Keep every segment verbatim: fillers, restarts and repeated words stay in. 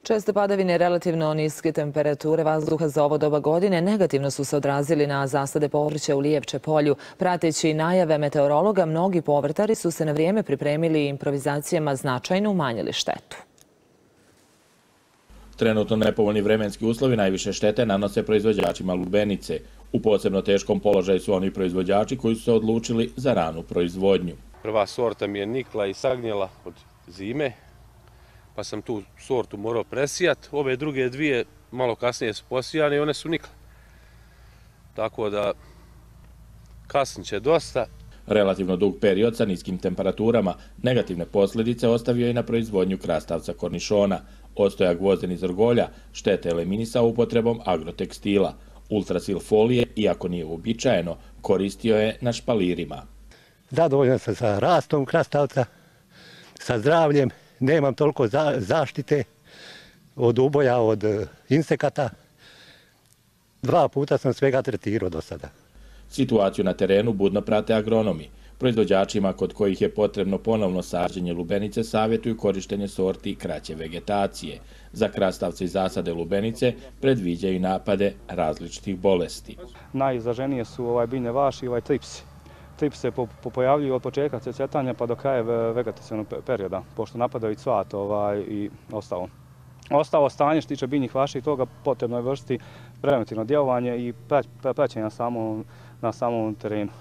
Česte padavine i relativno niske temperature vazduha za ovo doba godine negativno su se odrazili na zasade povrća u Lijevče polju. Prateći najave meteorologa, mnogi povrtari su se na vrijeme pripremili i improvizacijama značajno umanjili štetu. Trenutno nepovoljni vremenski uslovi najviše štete nanose proizvođačima lubenice. U posebno teškom položaju su oni proizvođači koji su se odlučili za ranu proizvodnju. Prva sorta mi je nikla i sagnjela od zime, pa sam tu sortu morao presijati. Ove druge dvije malo kasnije su posijane i one su nikle. Tako da kasnit će dosta. Relativno dug period sa niskim temperaturama negativne posljedice ostavio i na proizvodnju krastavca kornišona. Ostoja gvozden iz orgolja štete eliminisao upotrebom agrotekstila. Ultrasil folije, iako nije uobičajeno, koristio je na špalirima. Zadovoljan sam sa rastom krastavca, sa zdravljem, nemam toliko zaštite od uboja, od insekata. Dva puta sam svega tretirao do sada. Situaciju na terenu budno prate agronomi. Proizvođačima kod kojih je potrebno ponovno sađenje lubenice savjetuju korištenje sorti kraće vegetacije. Za krastavce i zasade lubenice predviđaju napade različitih bolesti. Najizraženije su ovaj biljne vaši i ovaj tripsi. Tripsi se pojavljuju od početka cvjetanja pa do kraja vegetacionog perioda, pošto napadaju cvat ovaj, i ostalo. Ostalo stanje što tiče biljnih vaši i toga potrebno je vršiti preventivno djelovanje i praćenje na samom, na samom terenu.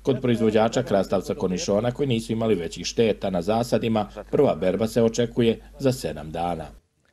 Kod proizvođača krastavca kornišona koji nisu imali većih šteta na zasadima, prva berba se očekuje za sedam dana.